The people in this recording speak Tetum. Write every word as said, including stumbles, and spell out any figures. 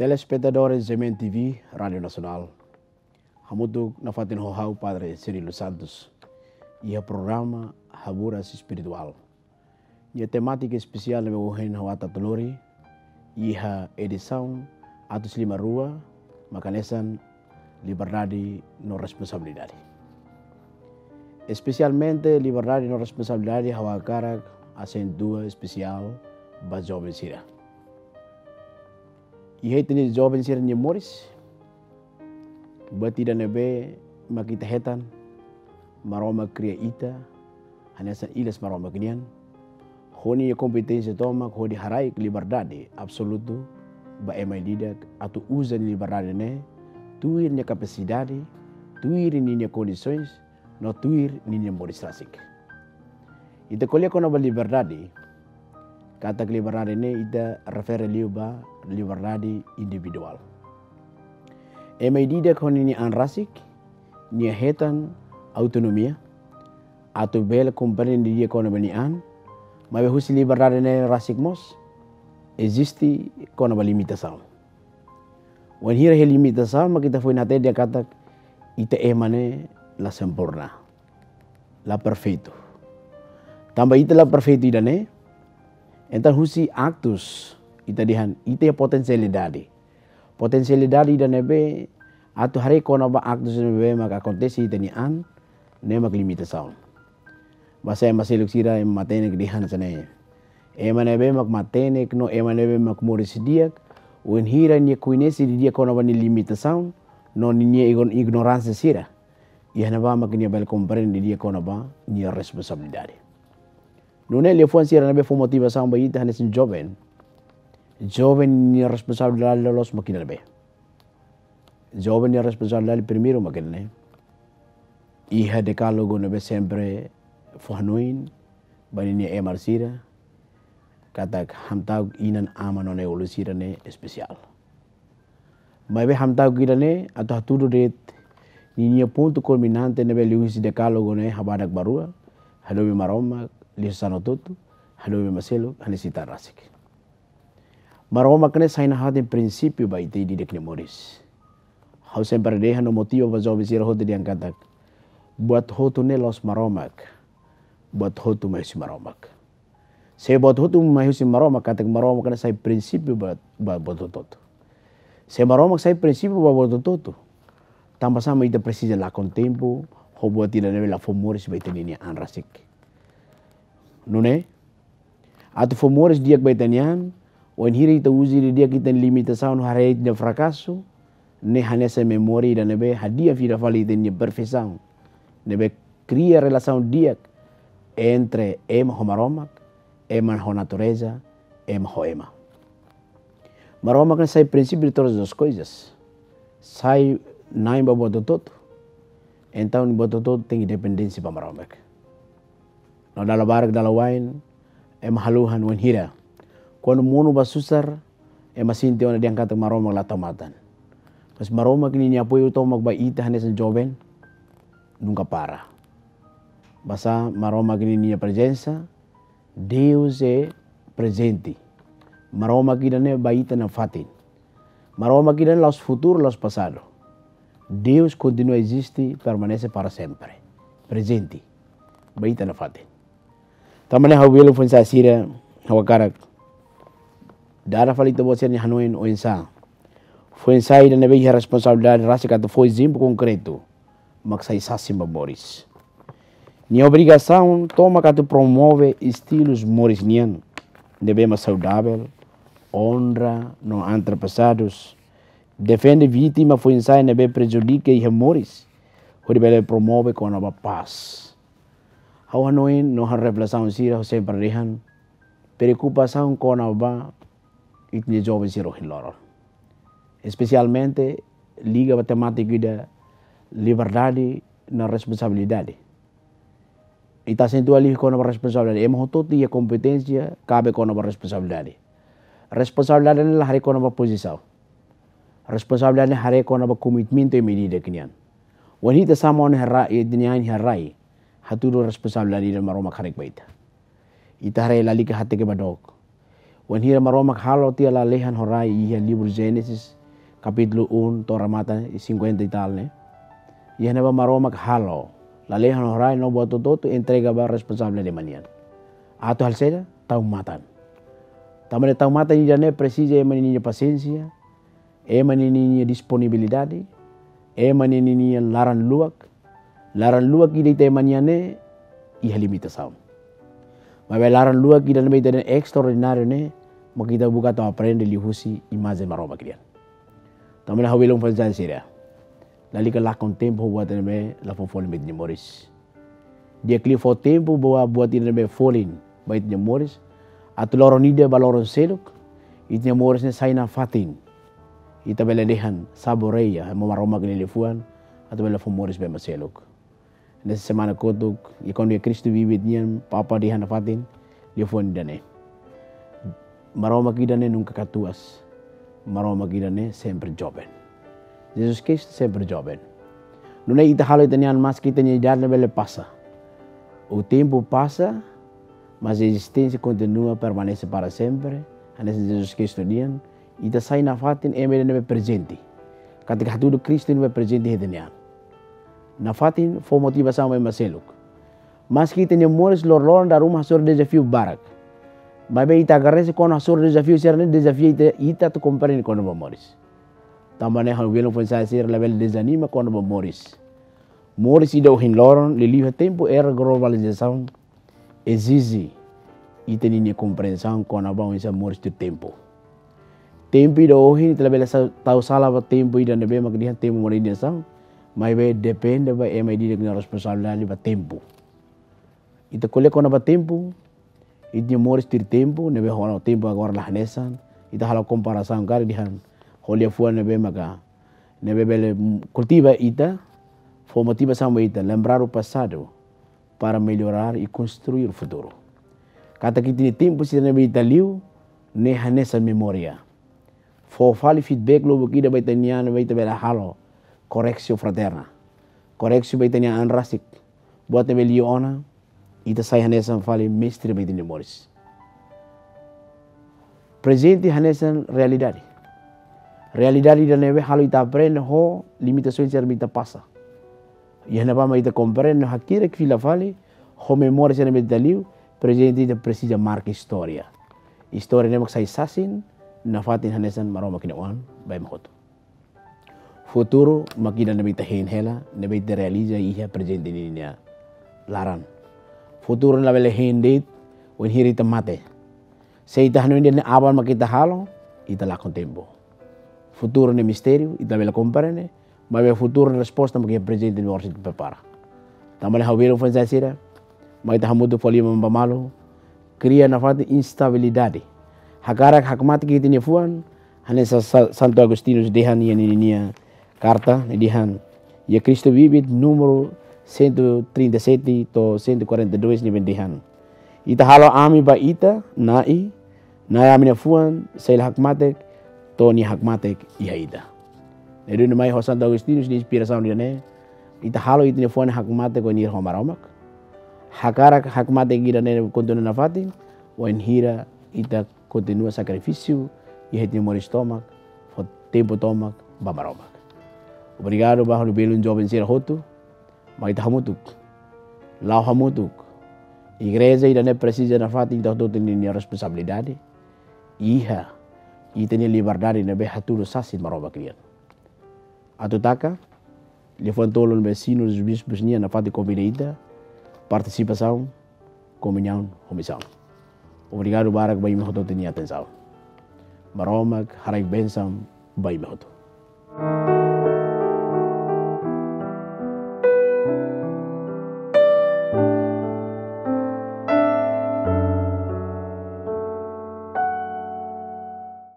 Telespetadores G M N T V, Rádiu Nasionál. Hamutuk nafatin ho ha'u Padre Cirilo Santos iha programa Haburas Espirituál. Nia temátika espesiál ne'ebé ohin ha'u atu hatutan lori iha edisaun atus lima rua, mak hanesan liberdade no responsabilidade. Espesialmente liberdade no responsabilidade ha'u hakarak asentua espesiál ba joven sira. Iha ita-nia joven sira-nia moris, buat ida ne'ebé mak ita hetan, Maromak kria ita hanesan ilas Maromak nian. Ho nia kompeténsia tomak hodi haraik liberdade absolutu ba ema ida-idak atu uza nia liberdade ne'e tuir nia kapasidade, tuir ninia kondisoens, no tuir ninia moris rasik. Ita ko'alia kona-ba liberdade, katak liberdade ne'e ita refere liu ba liberdade individuál. Ema ida-idak ho ninia an rasik, nia hetan autonomia atu bele komprende didi'ak kona-ba nia an, maibé husi liberdade ne'e rasik mós eziste kona-ba limitasaun. Wainhira iha limitasaun, mak ita foin hatene dehan katak ita ema ne'e la sempurna, la perfeitu. Tanba ita la perfeitu ida-ne'e, entaun husi aktus ita dehan ita iha potensialidade. Potensialidade ida ne'ebé atu haree kona-ba aktus ne'ebé maka akontese iha ita-nia an, ne'e mak limitasaun. Basá ema seluk sira ema matenek dehan hanesan ne'e. Ema ne'ebé mak matenek no ema ne'ebé mak moris di'ak, wainhira nia koñese didi'ak kona-ba nia limitasaun no ninia igno-, ignoránsia sira, iha ne'ebá mak nia bele komprende didi'ak kona-ba nia responsabilidade. Nune'e liafuan sira ne'ebé fó motivasaun ba ita hanesan joven. Joven nia responsabilidade loloos mak ida ne'ebé. Joven nia responsabilidade primeiru mak ida-ne'e. Iha dekálogu ne'ebé sempre fó hanoin ba ninia ema sira, katak hamta'uk inan, aman no na'in-ulun sira ne'e espesiál. Maibé hamta'uk ida-ne'e atu hatudu de'it ninia pontu kulminante ne'ebé liuhusi dekálogu ne'e habadak ba rua, hadomi Maromak, liuhusi sanulu hotu, hadomi ema seluk, hanesan ita rasik. Maromak ne'e sai nafatin prinsípiu ba ita ida-idak nia moris. Ha'u sempre dehan no motiva ba joven sira hotu dehan katak buat hotu ne'e la'ós Maromak, buat hotu mai husi Maromak. Se buat hotu mai husi Maromak, katak Maromak ne'e sai prinsípiu ba, ba buat hotu-hotu. Se Maromak sai prinsípiu ba buat hotu-hotu, tanbasá mak ita presiza lakon tempu ho buat ida ne'ebé la fó moris ba ita-nia an rasik? Nune'e, atu fó moris di'ak ba ita-nia an, wainhira ita uza didi'ak ita-nia limitasaun no haree ita-nia frakasu, ne'e hanesan memória ida ne'ebé hadi'a fila fali ita-nia perfeisaun, ne'ebé kria relasaun di'ak entre ema ho Maromak, ema ho natureza, ema ho ema. Maromak ne'e sai princípio de todas as coisas. Sai na'in ba buat hotu-hotu. Entaun buat hotu-hotu tenke dependénsia ba Maromak. No dala barak dala wa'in, ema haluha wainhira kuandu monu ba susar, ema sente ona dehan katak Maromak la tau matan. Mas Maromak ninia apoiu tomak ba ita hanesan joven nunka para. Basá Maromak ninia prezensa, Deus é prezente. Maromak ida-ne'e ba ita nafatin. Maromak ida-ne'e la'ós futuru, la'ós pasadu. Deus kontinua eziste, permanese para sempre. Prezente. Ba ita nafatin. Tanba ne'e ha'u bele foin-sa'e sira, ha'u hakarak dada fali ita-boot sira-nia hanoin oinsá. Foin-sa'e ida ne'ebé iha responsabilidade rasik atu fó ezemplu konkretu mak sai sasin ba moris. Nia obrigasaun tomak atu promove estilus moris nian ne'ebé mak saudavel, onra no antepasadus. Defende vítima foin-sa'e ne'ebé prejudika iha moris, hodi bele promove kona-ba pás. Ha'u hanoin no ha'u reflesaun sira, ha'u sempre dehan preokupasaun kona-ba ita-nia joven sira ohin loron. Espesialmente liga ba temátika ida liberdade no responsabilidade. Ita asentua liu kona-ba responsabilidade. Ema hotu-hotu iha kompeténsia kabe kona-ba responsabilidade. Responsabilidade ne'e la haree kona-ba pozisaun. Responsabilidade ne'e haree kona-ba komitmentu ema ida-idak nian. Wainhira ita sama ona iha rai, ita-nia an iha rai, hatudu responsabilidade ida Maromak haraik ba ita. Ita haree lalika hateke ba dook. Wainhira Maromak halo tiha lalehan ho rai iha livru Génesis, kapítulu um, to'o remata iha cinquenta e tal ne'e. Iha ne'ebá Maromak halo lalehan ho rai no buat hotu-hotu entrega ba responsabilidade ema nian. Atu halo saida? Tau matan. Tanba ne'e tau matan ida-ne'e presiza ema ninia pasiénsia, ema ninia disponibilidade, ema ninia laran-luak. Laran-luak ida ita ema nian ne'e iha limitasaun. Maibé laran-luak ida ne'ebé ita dehan estraordináriu ne'e, mak ita buka atu aprende liuhusi imajen Maromak nian. Tanba ne'e ha'u belun fó mensajen sira. Lalika lakon tempu ho buat ne'ebé la fó folin ba ita-nia moris. Di'ak liu fó tempu ba buat ida ne'ebé folin ba ita-nia moris. Atu loron ida ba loron seluk, ita-nia moris ne'e sai nafatin. Ita bele dehan saboreia ema Maromak nia liafuan, atu bele fó moris ba ema seluk. Nessa semana kotuk, i kuandu iha Kristu Vivit nian, Papa dehan nafatin liafuan ida-ne'e. Maromak ida-ne'e nunka katuas. Maromak ida-ne'e sempre joven. Jesus Kristu sempre joven. Nune'e ita halo ita-nia an maski ita-nia idade bele pasa. O tempu pasa, mas ezisténsia kontinua, permanese para sempre. Hanesan Jesus Kristu nian, ita sai nafatin ema ida ne'ebé prezente. Katak hatudu Kristu ne'ebé prezente iha ita-nia an. Nafatin fó motivasaun ba ema seluk. Maski ita-nia moris loroloron dala ruma hasoru dezafiu barak. Maibé ita agradese kuandu hasoru dezafiu sira-ne'e dezafia ita, ita atu komprende kona-ba moris. Tanba ne'e ha'u belun fó mensajen sira labele dezanima kona-ba moris. Moris ida ohin loron, liuliu iha tempu era globalizasaun, ezije ita ninia komprensaun kona-ba oinsá moris tuir tempu. Tempu ida ohin, ita labele sa-, tau sala ba tempu ida ne'ebé mak dehan tempu modernizasaun, maibé depende ba ema ida-idak nia responsabilidade ba tempu. Ita ko'alia kona-ba tempu, ita-nia moris tuir tempu, ne'ebé ho tempu agora la hanesan, ita halo komparasaun karik dehan ho liafuan ne'ebé maka, ne'ebé bele, mm, kultiva ita, fó motivasaun ba ita, lembrar o passado para melhorar e construir o futuro. Katak ita-nia tempu sira ne'ebé ita liu, ne'e hanesan memória. Fó fali feedback lubuk ida ba ita-nia an, ba ita bele halo correctio fraterna. Correctio ba ita-nia an rasik. Buat ne'ebé liu ona, ita sai hanesan fali mestre ba ita-nia moris. Prezente hanesan realidade. Realidade ida ne'ebé halo ita aprende ho limitasaun sira ne'ebé ita pasa. Iha ne'ebá mak ita komprende hakirak fila fali ho memória sira ne'ebé ita liu, prezente ita presiza marka istória. Istória ne'e mak sai sasin nafatin hanesan Maromak nia oan ba ema hotu. Futuru mak ida ne'ebé ita hein hela, ne'ebé ita realiza iha prezente ninia laran. Futuru labele hein de'it wainhira ita mate. Se ita hanoin dehan aban mak ita halo, ita lakon tempu. Futuru ne'e mistériu, ita labele komprende, maibé futuru ne'e resposta mak iha prezente ne'ebé orsida prepara. Tanba ne'e ha'u belun fó mensajen sira, mai ita hamutuk fó liman ba malu, kria nafatin instabilidade. Hakarak hakmatek ita-nia fuan, hanesan Sa-, Santo Agostinho dehan iha ninia karta, nia dehan, iha Cristo Vivit númeru cento e trinta e sete to'o cento e quarenta e dois nia dehan: Ita halo ami ba ita, Na'i, Na'i ami-nia fuan sei la hakmatek to'o nia hakmatek iha ita. Ne'e duni mai ho Santo Agostinho nia inspirasaun ida-ne'e, ita halo ita-nia fuan hakmatek wainhira ho Maromak. Hakarak hakmatek ida-ne'e kontinua nafatin, wainhira ita kontinua sakrifísiu iha ita-nia moris tomak, fó tempu tomak ba Maromak. Obrigadu ba ha'u-nia belun joven sira hotu, mai ita hamutuk. La'o hamutuk. Igreja ida-ne'e presiza nafatin ita hotu-hotu ninia responsabilidade. Iha ita-nia liberdade ne'ebé hatudu sasin Maromak nian. Atu taka, liafuan tolu ne'ebé Sínodu dos Bispus nian nafatin konvida ita, partisipasaun, komuñaun ho misaun. Obrigadu barak ba imi hotu-hotu nia atensaun. Maromak haraik bensaun ba imi hotu.